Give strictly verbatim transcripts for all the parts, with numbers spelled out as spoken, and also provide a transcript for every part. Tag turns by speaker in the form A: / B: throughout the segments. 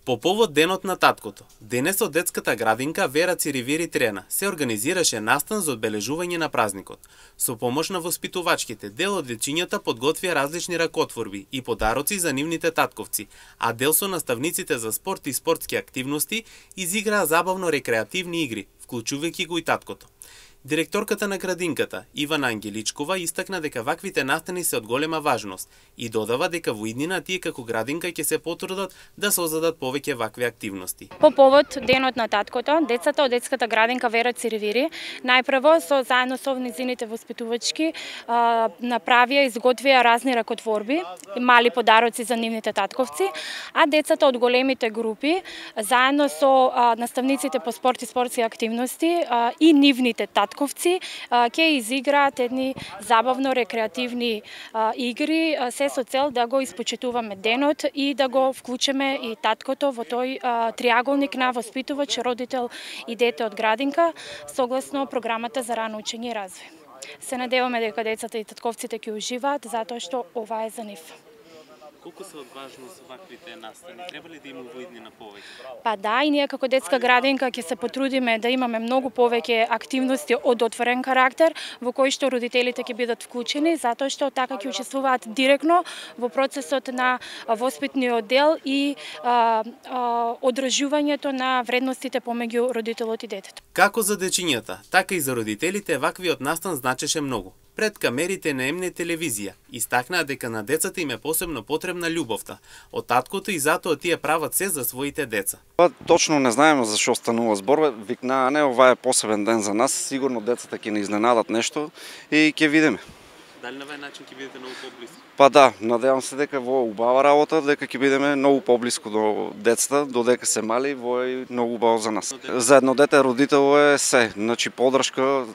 A: По повод Денот на таткото, денес од детската градинка Вера Циривери Трена се организираше настан за одбележување на празникот. Со помош на воспитувачките, дел од дечињата подготвија различни ракотворби и подароци за нивните татковци, а дел со наставниците за спорт и спортски активности изиграа забавно рекреативни игри, вклучувајќи го и таткото. Директорката на градинката, Ивана Ангеличкова, истакна дека ваквите настани се од голема важност и додава дека во иднина тие како градинка ќе се потрудат да создадат повеќе вакви активности.
B: По повод Денот на таткото, децата од детската градинка Вера Циривери најпрво со заедно со низините воспитувачки направија изготвија разни ракотворби и мали подароци за нивните татковци, а децата од големите групи заедно со наставниците по спорт и спортски активности и нивните татковци ќе изиграат едни забавно рекреативни игри, се со цел да го испочитуваме денот и да го вклучиме и таткото во тој триаголник на воспитувач, родител и дете од градинка, согласно програмата за рано учење и развој. Се надеваме дека децата и татковците ќе уживаат, затоа што ова е за нив.
A: Колку се одважно со ваквите настани? Треба ли да има во иднина повеќе?
B: Па да, и ние како детска градинка ќе се потрудиме да имаме многу повеќе активности од отворен карактер, во кои што родителите ќе бидат вклучени, затоа што така ќе учествуваат директно во процесот на воспитниот дел и а, а, одржувањето на вредностите помеѓу родителот и детето.
A: Како за дечињата, така и за родителите ваквиот настан значеше многу. Пред камерите на М Н телевизија истакнаа дека на децата им е посебно потребна љубовта од таткото и затоа тие прават се за своите деца.
C: Па точно не знаеме за што станува збор, викнаа не, ова е посебен ден за нас, сигурно децата ќе ни изненадат нешто и ќе видиме.
A: Дали на овој начин ќе бидете многу поблиску?
C: Па да, надевам се дека во убава работа, дека ќе бидеме многу поблиску до децата, додека се мали, во е многу убаво за нас. За едно дете родител е се, значи поддршка.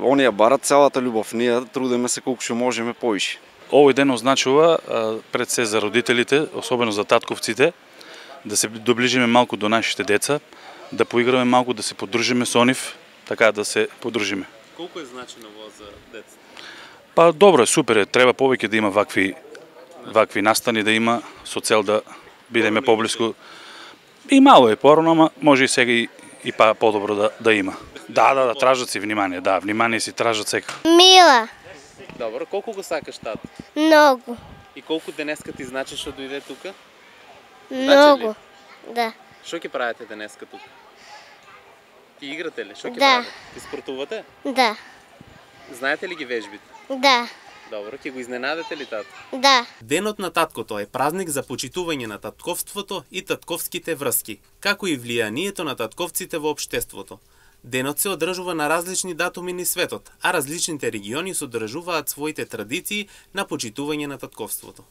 C: Оние барат целата љубов, ние трудиме се колку што можеме поише.
D: Овој ден означува пред се за родителите, особено за татковците, да се доближиме малку до нашите деца, да поиграме малку, да се поддржиме со нив, така да се поддржиме.
A: Колку е значено во за децата?
D: Па добро е, супер е, треба повеќе да има вакви вакви настани да има со цел да бидеме поблиску. И мало е порано, ама може и сега и, и па подобро да да има. Да, да, да, тражат си внимание, да, внимание си тражат сега.
E: Мила.
A: Добро, колку го сакаш тат?
E: Многу.
A: И колку денеска ти значи што дојде тука?
E: Многу. Да.
A: Што ќе правите денеска тука? Ти играте ли? Што ќе
E: Да.
A: правите? Ти спортувате?
E: Да.
A: Знаете ли ги вежбите?
E: Да.
A: Добро, ќе го изненадете ли тат?
E: Да.
A: Денот на таткото е празник за почитување на татковството и татковските врски, како и влијанието на татковците во општеството. Денот се одржува на различни датуми низ светот, а различните региони содржуваат своите традиции на почитување на татковството.